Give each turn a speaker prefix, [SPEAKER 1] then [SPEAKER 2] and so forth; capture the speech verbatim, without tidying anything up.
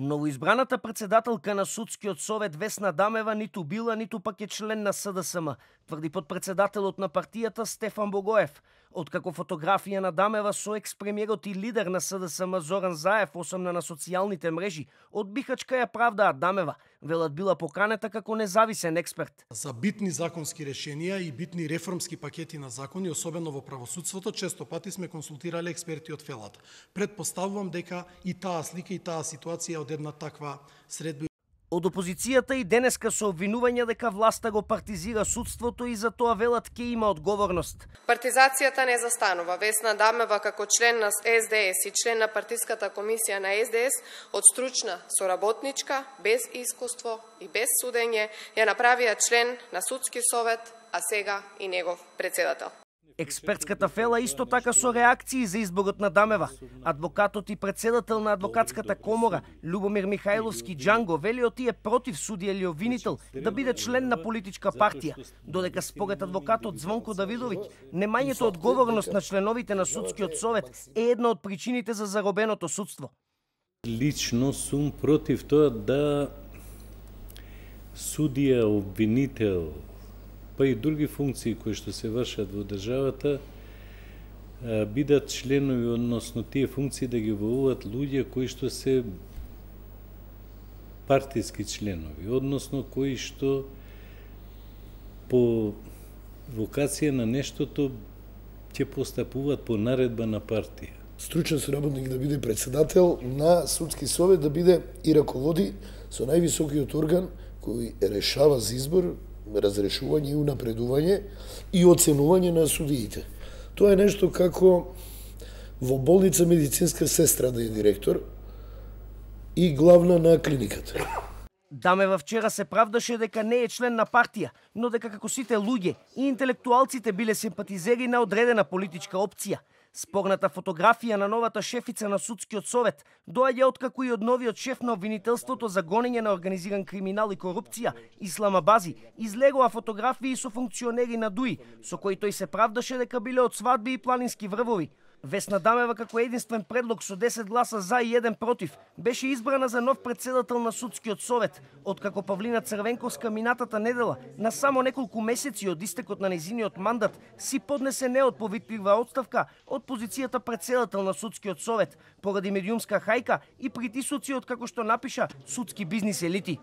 [SPEAKER 1] Новоизбраната председателка на Судскиот совет Весна Дамева ниту била, ниту пак е член на С Д С М, тврди подпредседателот на партијата Стефан Богоев. Откако фотографија на Дамева со екс-премиерот и лидер на С Д С М Зоран Заев осамна на социјалните мрежи, од Бихачка ја правдаат Дамева, велат била поканета како независен експерт.
[SPEAKER 2] За битни законски решенија и битни реформски пакети на закони, особено во правосудството, често пати сме консултирале експерти од фелата. Предпоставувам дека и таа слика и таа ситуација од една таква средба.
[SPEAKER 1] Од опозицијата и денеска со обвинувања дека власта го партизира судството и за тоа велат ке има одговорност.
[SPEAKER 3] Партизацијата не застанува. Весна Дамева како член на С Д С и член на партиската комисија на С Д С од стручна соработничка, без искуство и без судење ја направија член на Судски совет, а сега и негов председател.
[SPEAKER 1] Експертската фела исто така со реакции за изборот на Дамева. Адвокатот и председател на адвокатската комора Љубомир Михајловски Џанго вели отие против судија или обвинител да биде член на политичка партија, додека според адвокатот Звонко Давидовиќ немањето одговорност на членовите на Судскиот совет е една од причините за заробеното судство.
[SPEAKER 4] Лично сум против тоа да судија, обвинител, па и други функции кои што се вршат во државата, бидат членови, односно тие функции да ги обавуваат луѓе кои што се партиски членови, односно кои што по вокација на нештото ќе постапуваат по наредба на партија.
[SPEAKER 5] Стручен соработник да биде председател на Судски совет, да биде и раководи со највисокиот орган кој решава за избор, разрешување и унапредување и оценување на судиите. Тоа е нешто како во болница медицинска сестра да е директор и главна на клиниката.
[SPEAKER 1] Дамева вчера се правдаше дека не е член на партија, но дека како сите луѓе и интелектуалците биле симпатизери на одредена политичка опција. Спорната фотографија на новата шефица на Судскиот совет доаѓа откако и од новиот шеф на обвинителството за гонење на организиран криминал и корупција, Ислама Бази, излегоа фотографии со функционери на ДУИ, со кои тој се правдаше дека биле од свадби и планински врвови. Весна Дамева како единствен предлог со десет гласа за и еден против беше избрана за нов председател на Судскиот совет, откако Павлина Црвенковска минатата недела, на само неколку месеци од истекот на нејзиниот мандат, си поднесе неотповитлива отставка од позицијата председател на Судскиот совет, поради медиумска хајка и притисоци од како што напиша судски бизнис елити.